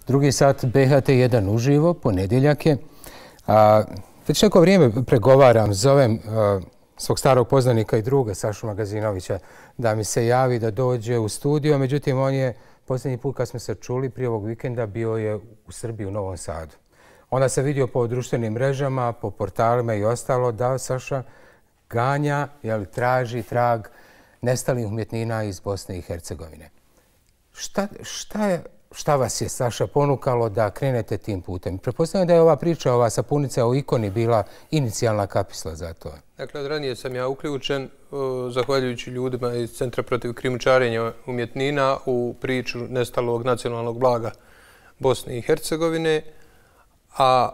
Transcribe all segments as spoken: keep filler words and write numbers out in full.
Drugi sat B H T jedan uživo, ponedjeljak je. A, već neko vrijeme pregovaram, zovem a, svog starog poznanika i druga Sašu Magazinovića da mi se javi da dođe u studio. Međutim, on je posljednji put kad smo se čuli prije ovog vikenda bio je u Srbiji, u Novom Sadu. Onda se vidio po društvenim mrežama, po portalima i ostalo da Saša ganja, jel, traži trag nestalih umjetnina iz Bosne i Hercegovine. Šta, šta, je, šta vas je, Saša, ponukalo da krenete tim putem? Pretpostavljam da je ova priča, ova sapunica o ikoni bila inicijalna kapisla za to. Dakle, od ranije sam ja uključen, zahvaljujući ljudima iz Centra protiv krijumčarenja umjetnina u priču nestalog nacionalnog blaga Bosne i Hercegovine. A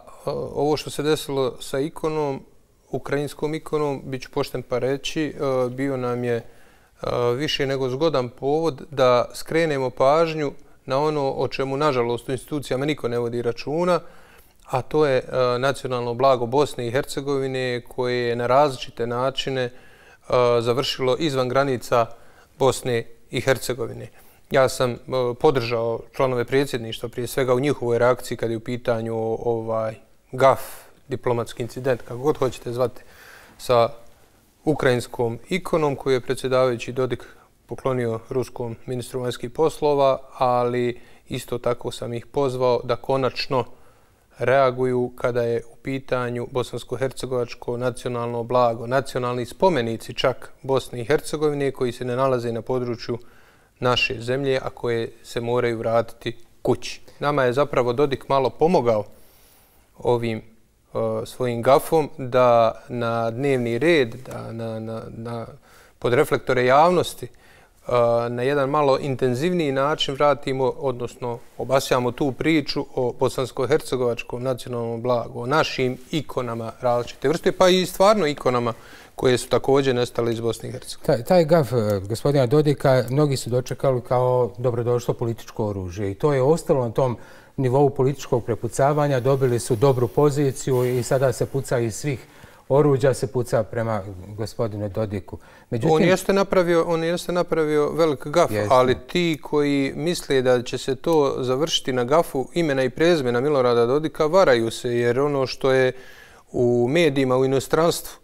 ovo što se desilo sa ikonom, ukrajinskom ikonom, bit ću pošten pa reći, bio nam je više nego zgodan povod da skrenemo pažnju na ono o čemu, nažalost, u institucijama niko ne vodi računa, a to je nacionalno blago Bosne i Hercegovine koje je na različite načine završilo izvan granica Bosne i Hercegovine. Ja sam podržao članove predsjedništva prije svega u njihovoj reakciji kad je u pitanju ovaj gaf, diplomatski incident, kako god hoćete zvati, sa ukrajinskom ikonom koju je predsjedavajući Dodik poklonio ruskom ministru vanjskih poslova, ali isto tako sam ih pozvao da konačno reaguju kada je u pitanju bosansko-hercegovačko nacionalno blago, nacionalni spomenici čak Bosne i Hercegovine koji se ne nalaze na području naše zemlje, a koje se moraju vratiti kući. Nama je zapravo Dodik malo pomogao ovim uh, svojim gafom da na dnevni red, da na, na, na, pod reflektore javnosti uh, na jedan malo intenzivniji način vratimo, odnosno obasjamo tu priču o bosansko-hercegovačkom nacionalnom blagu, o našim ikonama različite vrste, pa i stvarno ikonama koje su također nestale iz Bosne i Hercegovine. Taj, taj gaf gospodina Dodika mnogi su dočekali kao dobrodošlo političko oružje i to je ostalo na tom nivou političkog prepucavanja. Dobili su dobru poziciju i sada se puca iz svih oruđa, se puca prema gospodinu Dodiku. Međutim, on jeste napravio, on jeste napravio velik gaf, jeste. Ali ti koji misle da će se to završiti na gafu imena i prezimena Milorada Dodika varaju se, jer ono što je u medijima u inostranstvu,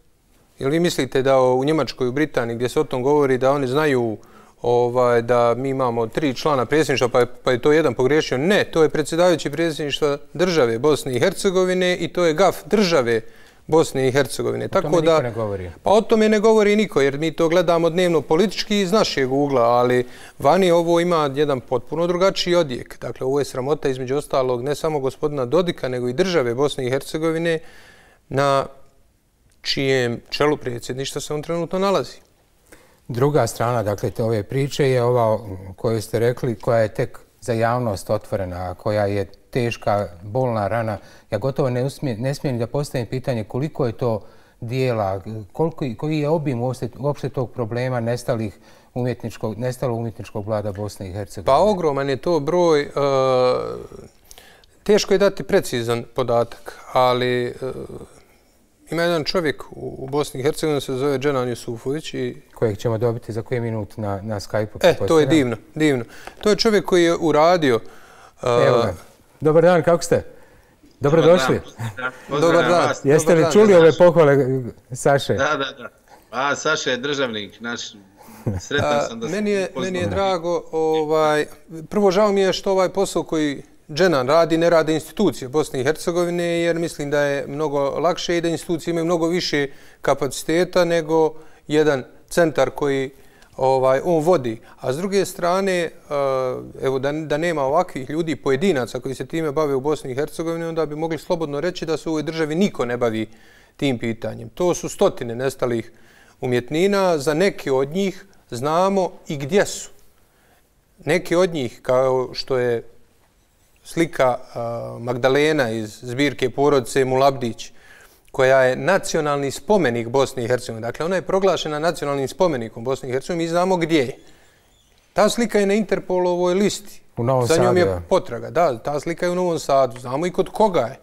jel vi mislite da u Njemačkoj, u Britaniji, gdje se o tom govori, da oni znaju ovaj, da mi imamo tri člana predsjedništva, pa je, pa je to jedan pogriješio? Ne, to je predsjedavajući predsjedništva države Bosne i Hercegovine i to je gaf države Bosne i Hercegovine. O tome Tako niko da, ne govori. Pa o tome ne govori niko, jer mi to gledamo dnevno politički iz našeg ugla, ali vani ovo ima jedan potpuno drugačiji odjek. Dakle, ovo je sramota između ostalog ne samo gospodina Dodika, nego i države Bosne i Hercegovine na čijem čelu predsjedništva se on trenutno nalazi. Druga strana, dakle, te ove priče je ova koju ste rekli, koja je tek za javnost otvorena, koja je teška, bolna rana. Ja gotovo ne, usmije, ne smijem da postavim pitanje koliko je to dijela, koliko, koji je obim uopšte, uopšte tog problema nestalih umjetničkog, nestalog umjetničkog vlada Bosne i Hercegovine. Pa ogroman je to broj. Uh, teško je dati precizan podatak, ali uh, ima jedan čovjek u Bosni i Hercegovini, se zove Dženan Jusufović. I kojeg ćemo dobiti za koji minut na, na Skype-u. E, to je divno, divno. To je čovjek koji je uradio... Uh, Evo ga. Dobar dan, kako ste? Dobrodošli. Dobar dan. Jeste li čuli ove pohvale Saše? Da, da, da. A, Saša je državnik, naš... Sretan sam da se meni je, meni je drago, ovaj, prvo žao mi je što ovaj posao koji Dženan radi, ne rade institucije Bosne i Hercegovine, jer mislim da je mnogo lakše i da institucije imaju mnogo više kapaciteta nego jedan centar koji ovaj, on vodi. A s druge strane, evo, da, da nema ovakvih ljudi, pojedinaca koji se time bave u Bosni i Hercegovini, onda bi mogli slobodno reći da se u ovoj državi niko ne bavi tim pitanjem. To su stotine nestalih umjetnina, za neke od njih znamo i gdje su. Neke od njih, kao što je slika uh, Magdalena iz zbirke porodice Mulabdić, koja je nacionalni spomenik Bosne i Hercegovine. Dakle, ona je proglašena nacionalnim spomenikom Bosne i Hercegovine. Mi znamo gdje je. Ta slika je na Interpolovoj listi. U Novom Za njom Sadu, je ja. potraga. Da, ta slika je u Novom Sadu. Znamo i kod koga je.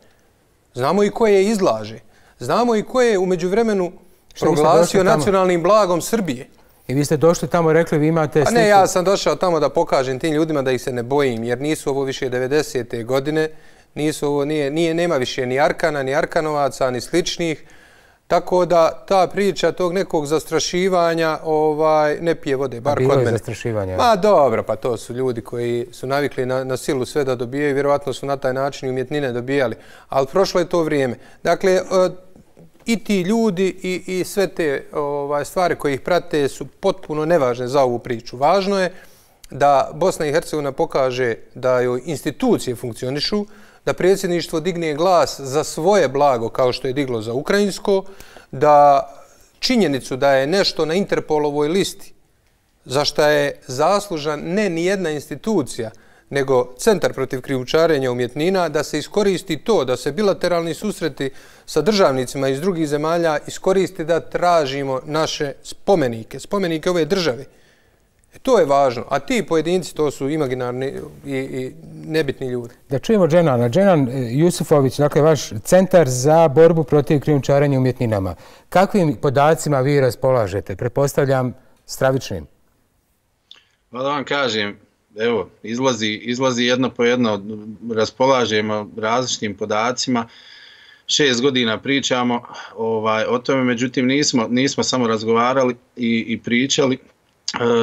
Znamo i ko je izlaže. Znamo i ko je umeđu vremenu proglasio nacionalnim blagom Srbije. I vi ste došli tamo i rekli vi imate sliku. A ne, ja sam došao tamo da pokažem tim ljudima da ih se ne bojim, jer nisu ovo više devedesete godine, nisu ovo, nije, nije, nema više ni Arkana, ni Arkanovaca, ni sličnih. Tako da ta priča tog nekog zastrašivanja ovaj, ne pije vode, bar kod mene. Bilo je zastrašivanja. Ma dobro, pa to su ljudi koji su navikli na, na silu sve da dobijaju, vjerovatno su na taj način i umjetnine dobijali. Ali prošlo je to vrijeme. Dakle, i ti ljudi i, i sve te ovaj, stvari koje ih prate su potpuno nevažne za ovu priču. Važno je da Bosna i Hercegovina pokaže da joj institucije funkcionišu, da predsjedništvo digne glas za svoje blago kao što je diglo za ukrajinsko, da činjenicu da je nešto na Interpolovoj listi za što je zaslužan ne ni jedna institucija, nego Centar protiv krijumčarenja umjetnina, da se iskoristi to, da se bilateralni susreti sa državnicima iz drugih zemalja iskoristi da tražimo naše spomenike, spomenike ove države. To je važno, a ti pojedinci to su imaginarni i, i nebitni ljudi. Da čujemo Dženana. Dženan Jusufović, dakle vaš Centar za borbu protiv krijumčarenja umjetninama. Kakvim podacima vi raspolažete? Pretpostavljam stravičnim. Pa da vam kažem, evo, izlazi, izlazi jedno po jedno, raspolažemo različitim podacima. Šest godina pričamo ovaj, o tome, međutim nismo, nismo samo razgovarali i, i pričali.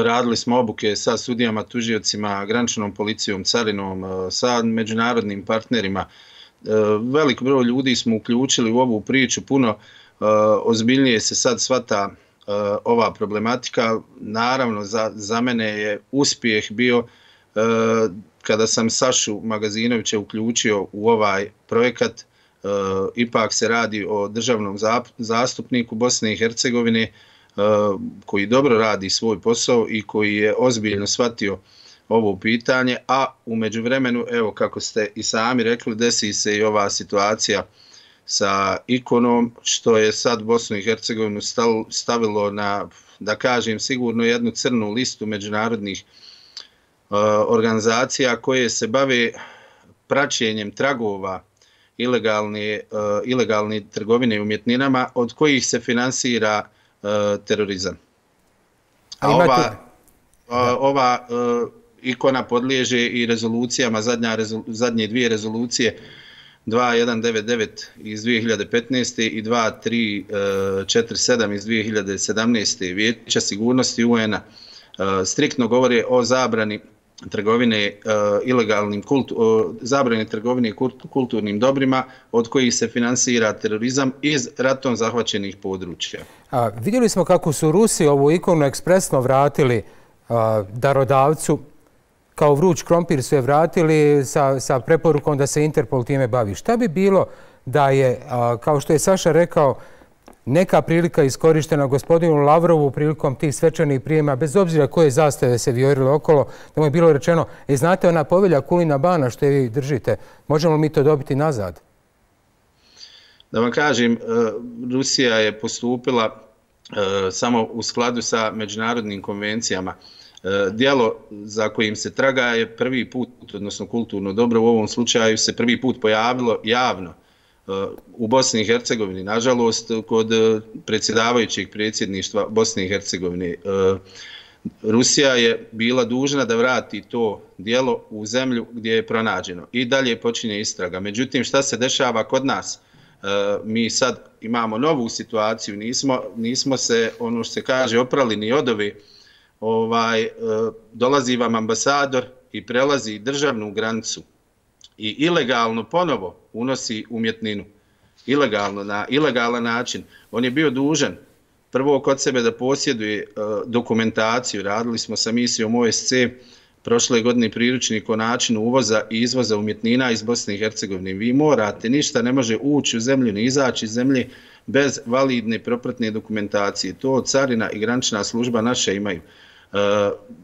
Radili smo obuke sa sudijama, tužiocima, graničnom policijom, carinom, sa međunarodnim partnerima. Velik broj ljudi smo uključili u ovu priču, puno ozbiljnije se sad shvata ova problematika. Naravno, za, za mene je uspjeh bio kada sam Sašu Magazinovića uključio u ovaj projekat. Ipak se radi o državnom zastupniku Bosne i Hercegovine, koji dobro radi svoj posao i koji je ozbiljno shvatio ovo pitanje, a u međuvremenu, evo kako ste i sami rekli, desi se i ova situacija sa ikonom, što je sad Bosnu i Hercegovinu stavilo na, da kažem, sigurno jednu crnu listu međunarodnih uh, organizacija koje se bave praćenjem tragova ilegalne, uh, ilegalne trgovine umjetninama od kojih se finansira terorizam. A ova, ova uh, ikona podliježe i rezolucijama, zadnja, rezolu, zadnje dvije rezolucije dva jedan devet devet iz dvije hiljade petnaeste i dva tri četiri sedam iz dvije hiljade sedamnaeste Vijeća sigurnosti U N-a uh, striktno govore o zabrani trgovine uh, ilegalnim kultu, uh, zabrane trgovine kulturnim dobrima od kojih se finansira terorizam iz ratom zahvaćenih područja. A, vidjeli smo kako su Rusi ovu ikonu ekspresno vratili a, darodavcu, kao vruć krompir su je vratili sa, sa preporukom da se Interpol time bavi. Šta bi bilo da je, a, kao što je Saša rekao, neka prilika iskorištena gospodinu Lavrovu prilikom tih svečanih prijema, bez obzira koje zastave se vijorile okolo, da mu je bilo rečeno, e, znate ona povelja Kulina Bana što je vi držite, možemo mi to dobiti nazad? Da vam kažem, Rusija je postupila samo u skladu sa međunarodnim konvencijama. Djelo za kojim se traga je prvi put, odnosno kulturno dobro u ovom slučaju, se prvi put pojavilo javno u Bosni i Hercegovini, nažalost, kod predsjedavajućeg predsjedništva Bosne i Hercegovine. Rusija je bila dužna da vrati to djelo u zemlju gdje je pronađeno i dalje počinje istraga. Međutim, šta se dešava kod nas? Mi sad imamo novu situaciju, nismo, nismo se, ono što se kaže, oprali ni od ove. Ovaj, dolazi vam ambasador i prelazi državnu granicu i ilegalno ponovo unosi umjetninu. Ilegalno, na ilegalan način. On je bio dužan prvo kod sebe da posjeduje dokumentaciju. Radili smo sa misijom O S C prošle godine priručnik o načinu uvoza i izvoza umjetnina iz Bosne i Hercegovine. Vi morate, ništa ne može ući u zemlju, ni izaći iz zemlje bez validne propratne dokumentacije. To carina i granična služba naše imaju. Uh,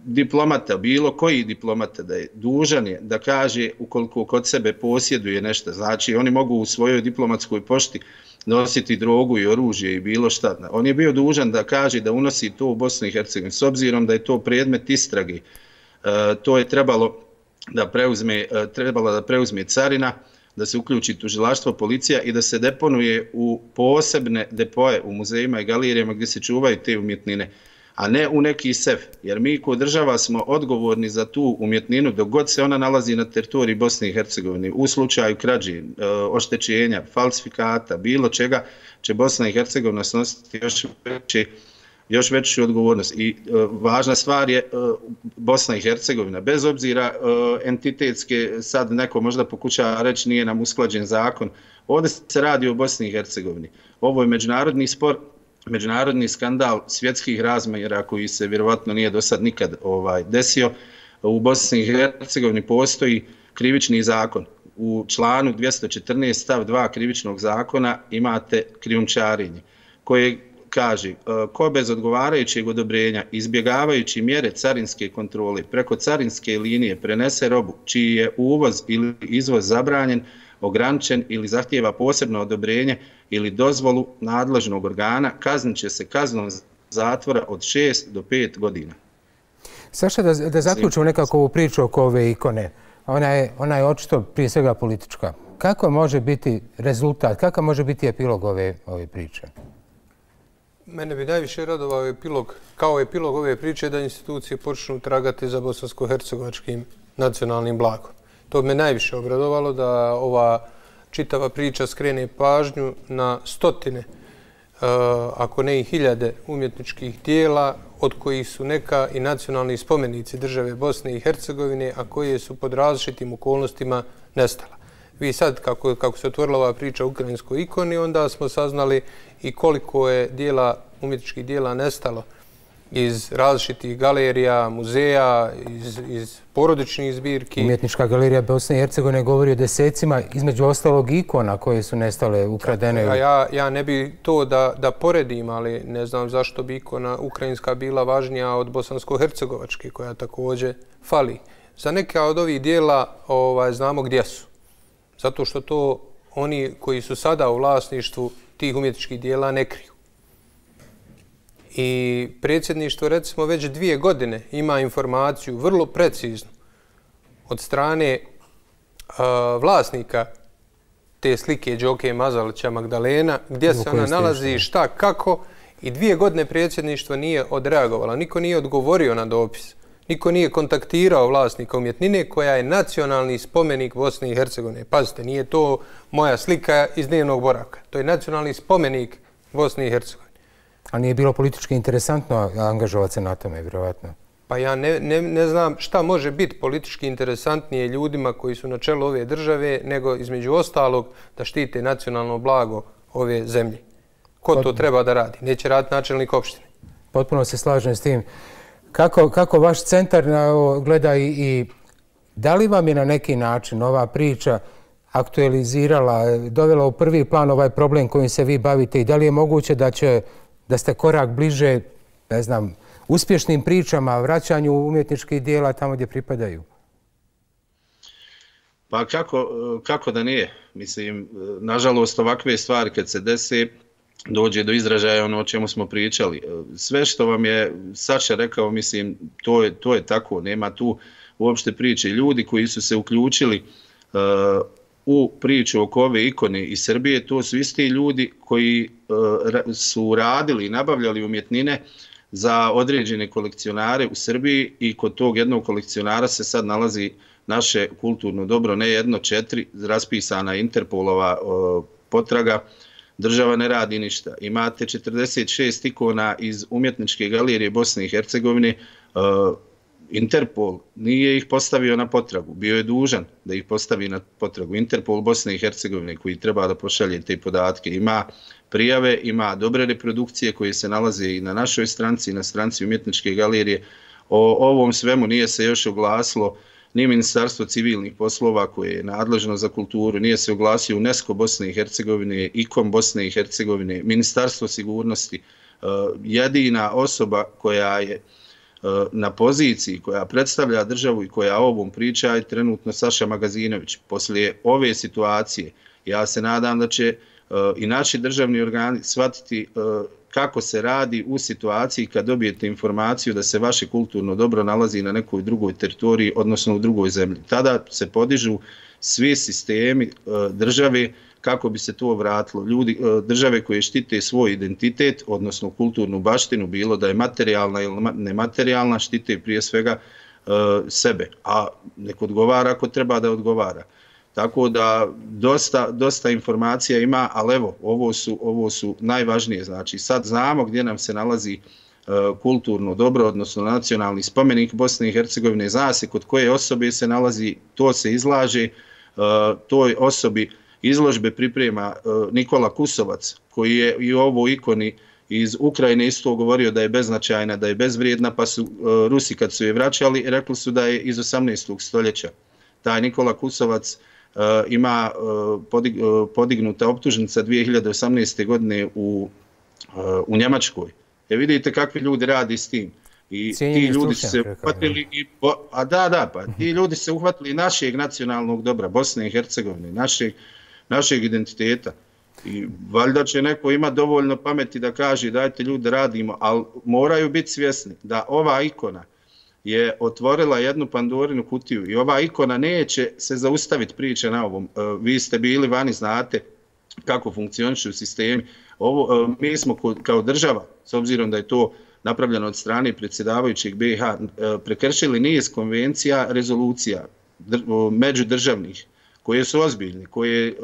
diplomata, bilo koji diplomata da je dužan je da kaže ukoliko kod sebe posjeduje nešto. Znači oni mogu u svojoj diplomatskoj pošti nositi drogu i oružje i bilo šta. On je bio dužan da kaže da unosi to u Bosnu i Hercegovinu. S obzirom da je to predmet istrage, uh, to je trebalo da preuzme, uh, trebalo da preuzme carina, da se uključi tužilaštvo, policija i da se deponuje u posebne depoje u muzejima i galerijama gdje se čuvaju te umjetnine. a ne u neki sef. Jer mi kao država smo odgovorni za tu umjetninu dok god se ona nalazi na teritoriji Bosne i Hercegovine. U slučaju krađe, oštećenja, falsifikata, bilo čega će Bosna i Hercegovina snositi još veće još veću odgovornost. I e, važna stvar je e, Bosna i Hercegovina. Bez obzira e, entitetske, sad neko možda pokušava reći nije nam usklađen zakon, ovdje se radi o Bosni i Hercegovini. Ovo je međunarodni spor, međunarodni skandal svjetskih razmjera koji se vjerovatno nije do sad nikad ovaj, desio. U Bosni i Hercegovini postoji krivični zakon. U članu dvjesto četrnaest stav dva krivičnog zakona imate krijumčarenje koje kaže, ko bez odgovarajućeg odobrenja, izbjegavajući mjere carinske kontrole, preko carinske linije prenese robu čiji je uvoz ili izvoz zabranjen, ograničen ili zahtijeva posebno odobrenje ili dozvolu nadležnog organa, kaznit će se kaznom zatvora od šest do pet godina. Saša, da, da zaključimo nekako ovu priču oko ove ikone. Ona je, ona je očito prije svega politička. Kako može biti rezultat, kakav može biti epilog ove, ove priče? Mene bi najviše radovao epilog, kao epilog ove priče da institucije počnu tragati za bosansko-hercegovačkim nacionalnim blagom. To bi me najviše obradovalo da ova čitava priča skrene pažnju na stotine, ako ne i hiljade umjetničkih dijela, od kojih su neka i nacionalni spomenici države Bosne i Hercegovine, a koje su pod različitim okolnostima nestala. Vi sad, kako, kako se otvorila ova priča o ukrajinskoj ikoni, onda smo saznali i koliko je dijela, umjetničkih dijela nestalo iz različitih galerija, muzeja, iz, iz porodičnih zbirki. Umjetnička galerija Bosne i Hercegovine govori o desecima, između ostalog ikona koje su nestale, ukradene. A ja, ja ne bi to da, da poredim, ali ne znam zašto bi ikona ukrajinska bila važnija od bosansko-hercegovačke, koja također fali. Za neka od ovih dijela ovaj, znamo gdje su. Zato što to oni koji su sada u vlasništvu tih umjetničkih dijela ne kriju. I predsjedništvo, recimo, već dvije godine ima informaciju vrlo preciznu od strane uh, vlasnika te slike Đoke Mazalića Magdalena, gdje se ona nalazi, šta, kako, i dvije godine predsjedništvo nije odreagovalo. Niko nije odgovorio na dopis. Niko nije kontaktirao vlasnika umjetnine koja je nacionalni spomenik Bosne i Hercegovine. Pazite, nije to moja slika iz dnevnog boravka. To je nacionalni spomenik Bosne i Hercegovine. A nije bilo politički interesantno angažovati se na tome, vjerovatno? Pa ja ne, ne, ne znam šta može biti politički interesantnije ljudima koji su na čelu ove države, nego između ostalog da štite nacionalno blago ove zemlje. Ko Pot... to treba da radi? Neće raditi načelnik opštine. Potpuno se slažem s tim. Kako, kako vaš centar gleda i, i da li vam je na neki način ova priča aktualizirala, dovela u prvi plan ovaj problem kojim se vi bavite i da li je moguće da će da ste korak bliže, ne znam, uspješnim pričama, vraćanju umjetničkih dijela tamo gdje pripadaju? Pa kako, kako da nije? Mislim, nažalost, ovakve stvari kad se dese, dođe do izražaja ono o čemu smo pričali. Sve što vam je Saša rekao, mislim, to je, to je tako. Nema tu uopšte priče. Ljudi koji su se uključili uh, u priču oko ove ikone iz Srbije, to su isti ljudi koji uh, su radili i nabavljali umjetnine za određene kolekcionare u Srbiji i kod tog jednog kolekcionara se sad nalazi naše kulturno dobro, ne jedno, četiri, raspisana Interpolova uh, potraga. Država ne radi ništa. Imate četrdeset šest ikona iz umjetničke galerije Bosne i Hercegovine. Uh, Interpol nije ih postavio na potragu. Bio je dužan da ih postavi na potragu. Interpol Bosne i Hercegovine koji treba da pošalje te podatke. Ima prijave, ima dobre reprodukcije koje se nalaze i na našoj stranci i na stranci umjetničke galerije. O ovom svemu nije se još oglasilo ni Ministarstvo civilnih poslova koje je nadležno za kulturu, nije se oglasio UNESCO Bosne i Hercegovine, IKOM Bosne i Hercegovine, Ministarstvo sigurnosti. Jedina osoba koja je na poziciji, koja predstavlja državu i koja o ovom priča je trenutno Saša Magazinović. Poslije ove situacije ja se nadam da će i naši državni organi shvatiti kako se radi u situaciji kad dobijete informaciju da se vaše kulturno dobro nalazi na nekoj drugoj teritoriji, odnosno u drugoj zemlji. Tada se podižu svi sistemi države kako bi se to vratilo. Ljudi, države koje štite svoj identitet, odnosno kulturnu baštinu, bilo da je materijalna ili nematerijalna, štite prije svega sebe, a nek odgovara ako treba da odgovara. Tako da dosta, dosta informacija ima, ali evo, ovo su, ovo su najvažnije. Znači, sad znamo gdje nam se nalazi kulturno dobro, odnosno nacionalni spomenik Bosne i Hercegovine, zna se kod koje osobe se nalazi, to se izlaže, toj osobi izložbe priprema Nikola Kusovac, koji je i u ovoj ikoni iz Ukrajine isto govorio da je beznačajna, da je bezvrijedna, pa su Rusi kad su je vraćali, rekli su da je iz osamnaestog stoljeća. Taj Nikola Kusovac ima podignuta optužnica dvije hiljade osamnaeste. godine u, u Njemačkoj. E vidite kakvi ljudi radi s tim. I ti ljudi su se uhvatili, i, a da, da, pa ti ljudi se uhvatili našeg nacionalnog dobra, Bosne i Hercegovine, našeg, našeg identiteta. I valjda će neko ima dovoljno pameti da kaže dajte ljudi radimo, ali moraju biti svjesni da ova ikona je otvorila jednu Pandorinu kutiju i ova ikona neće se zaustaviti priče na ovom. Vi ste bili vani, znate kako funkcionišu sistemi. Ovo, mi smo kao država, s obzirom da je to napravljeno od strane predsjedavajućeg B i H, prekršili niz konvencija, rezolucija međudržavnih, koje su ozbiljne, koje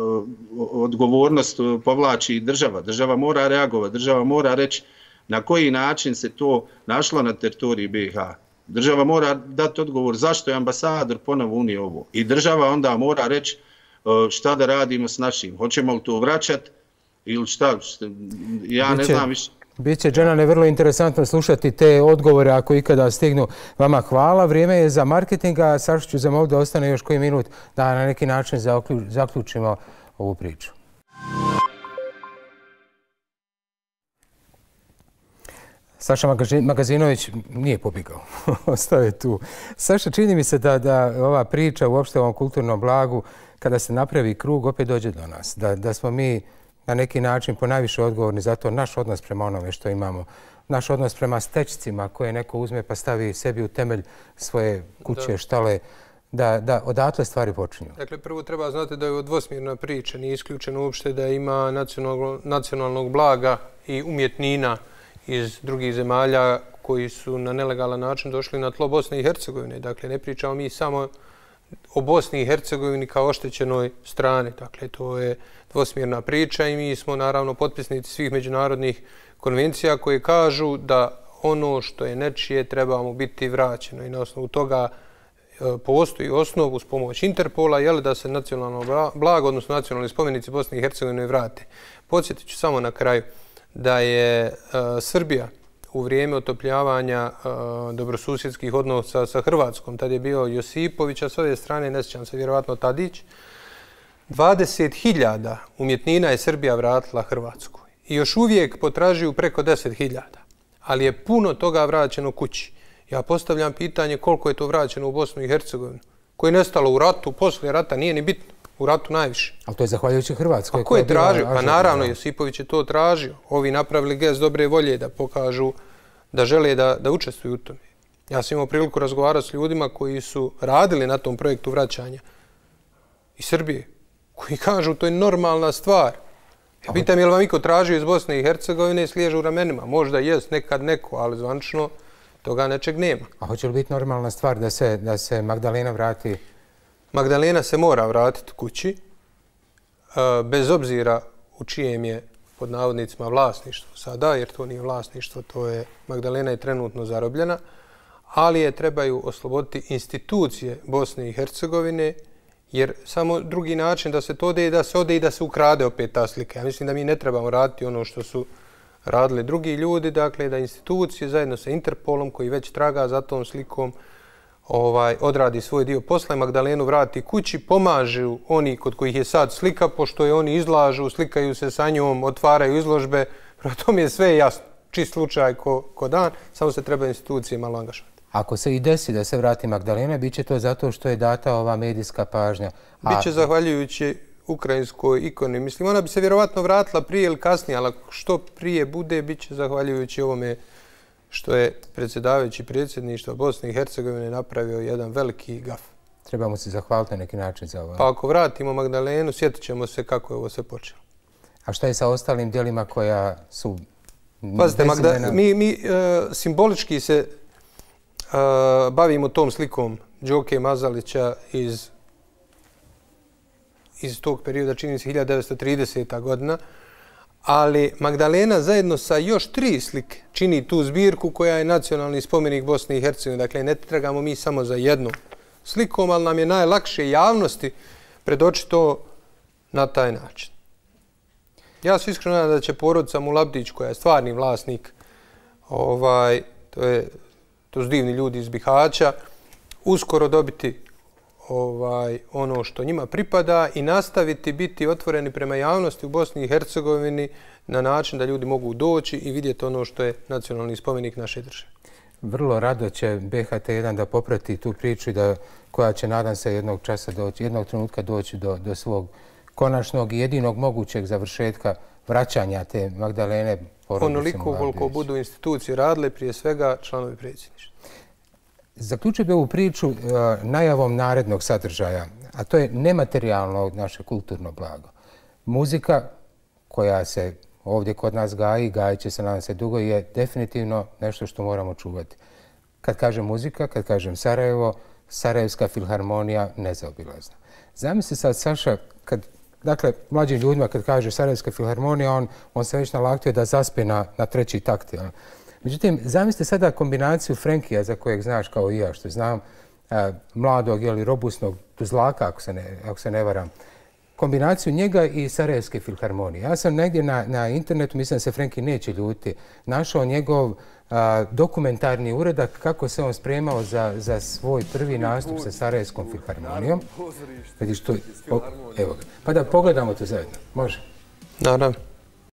odgovornost povlači država. Država mora reagovati, država mora reći na koji način se to našlo na teritoriji B i H. Država mora dati odgovor zašto je ambasador ponovo unio ovo. I država onda mora reći šta da radimo s našim. Hoćemo li to vraćati ili šta? Ja ne znam više. Biće, Dženane, vrlo interesantno slušati te odgovore ako ikada stignu. Vama hvala. Vrijeme je za marketing, a Sašu ću zamoliti da ostane još koji minut da na neki način zaključimo ovu priču. Saša Magazinović nije pobjegao, ostao je tu. Saša, čini mi se da, da ova priča uopšte o ovom kulturnom blagu, kada se napravi krug, opet dođe do nas. Da, da smo mi na neki način ponajviše odgovorni za to, naš odnos prema onome što imamo, naš odnos prema stečcima koje neko uzme pa stavi sebi u temelj svoje kuće, da. štale, da, da odatle stvari počinju. Dakle, prvo treba znati da je ovo dvosmjerna priča, nije isključeno uopšte da ima nacionalnog, nacionalnog blaga i umjetnina iz drugih zemalja koji su na nelegalan način došli na tlo Bosne i Hercegovine. Dakle, ne pričamo mi samo o Bosni i Hercegovini kao oštećenoj strani. Dakle, to je dvosmjerna priča i mi smo naravno potpisnici svih međunarodnih konvencija koje kažu da ono što je nečije treba mu biti vraćeno i na osnovu toga postoji osnov uz pomoć Interpola jel, da se nacionalno blago, odnosno nacionalni spomenici Bosne i Hercegovine vrate. Podsjetit ću samo na kraju da je uh, Srbija u vrijeme otopljavanja uh, dobrosusjedskih odnosa sa Hrvatskom, tad je bio Josipović, a s ove strane, ne sjećam se, vjerovatno Tadić, dvadeset hiljada umjetnina je Srbija vratila Hrvatskoj. I još uvijek potražuju preko deset hiljada. Ali je puno toga vraćeno kući. Ja postavljam pitanje koliko je to vraćeno u Bosnu i Hercegovinu, koje je nestalo u ratu, poslije rata, nije ni bitno. U ratu najviše. Ali to je zahvaljujući Hrvatskoj. A ko je tražio? Pa naravno, Josipović je to tražio. Ovi napravili gest dobre volje da pokažu da žele da, da učestvuju u tome. Ja sam imao priliku razgovarati s ljudima koji su radili na tom projektu vraćanja iz Srbije, koji kažu to je normalna stvar. Ja pitam je li vam iko tražio iz Bosne i Hercegovine i sliježu u ramenima. Možda jest nekad neko, ali zvančno toga nečeg nema. A hoće li biti normalna stvar da se, da se Magdalena vrati? Magdalena se mora vratiti kući, bez obzira u čijem je pod navodnicima vlasništvo sada, jer to nije vlasništvo, to je Magdalena je trenutno zarobljena, ali je trebaju osloboditi institucije Bosne i Hercegovine, jer samo drugi način da se to ode i da se ode i da se ukrade opet ta slika. Ja mislim da mi ne trebamo raditi ono što su radili drugi ljudi, dakle da institucije zajedno sa Interpolom koji već traga za tom slikom ovaj, odradi svoj dio posla i Magdalenu vrati kući, pomažu oni kod kojih je sad slika, pošto je oni izlažu, slikaju se sa njom, otvaraju izložbe, prema tome je sve jasno, čist slučaj ko, ko dan, samo se treba institucije malo angažati. Ako se i desi da se vrati Magdalena, bit će to zato što je data ova medijska pažnja. A... Biće zahvaljujući ukrajinskoj ikoni. Mislim, ona bi se vjerovatno vratila prije ili kasnije, ali što prije bude, bit će zahvaljujući ovome što je predsjedavajući predsjedništva Bosne i Hercegovine napravio jedan veliki gaf. Trebamo se zahvaliti na neki način za ovo. Pa ako vratimo Magdalenu, sjetit ćemo se kako je ovo sve počelo. A šta je sa ostalim dijelima koja su... Pazite, Magda, mi, mi uh, simbolički se uh, bavimo tom slikom Đoke Mazalića iz, iz tog perioda, čini se hiljadu devetsto trideseta godina, ali Magdalena zajedno sa još tri slike čini tu zbirku koja je nacionalni spomenik Bosne i Hercegovine. Dakle, ne tragamo mi samo za jednu slikom, ali nam je najlakše javnosti predočiti to na taj način. Ja se iskreno nadam da će porodica Mulabdić, koja je stvarni vlasnik, ovaj, to, je, to su divni ljudi iz Bihaća, uskoro dobiti ovaj, ono što njima pripada i nastaviti biti otvoreni prema javnosti u Bosni i Hercegovini na način da ljudi mogu doći i vidjeti ono što je nacionalni spomenik naše države. Vrlo rado će B H T jedan da poprati tu priču da, koja će, nadam se, jednog časa doći, jednog trenutka doći do, do svog konačnog i jedinog mogućeg završetka vraćanja te Magdalene porodice Mulabdić. Onoliko koliko budu institucije radile, prije svega članovi predsjedništva. Zaključio bi ovu priču uh, najavom narednog sadržaja, a to je nematerijalno naše kulturno blago. Muzika koja se ovdje kod nas gaji, gajit će se nadam se dugo, je definitivno nešto što moramo čuvati. Kad kažem muzika, kad kažem Sarajevo, Sarajevska filharmonija nezaobilazna. Zamisli sad, Saša, kad, dakle, mlađim ljudima kad kaže Sarajevska filharmonija, on, on se već nalaktuje da zaspe na, na treći takt. Ja. Međutim, zamislite sada kombinaciju Frenkija, za kojeg znaš kao i ja, što znam, a, mladog ili robustnog tuzlaka, ako se ne, ako se ne varam, kombinaciju njega i Sarajevske filharmonije. Ja sam negdje na, na internetu, mislim da se Frenki neće ljuti, našao njegov a, dokumentarni uradak kako se on spremao za, za svoj prvi nastup sa Sarajevskom filharmonijom. Vidiš to, o, evo ga. Pa da pogledamo to zajedno. Može? Naravno.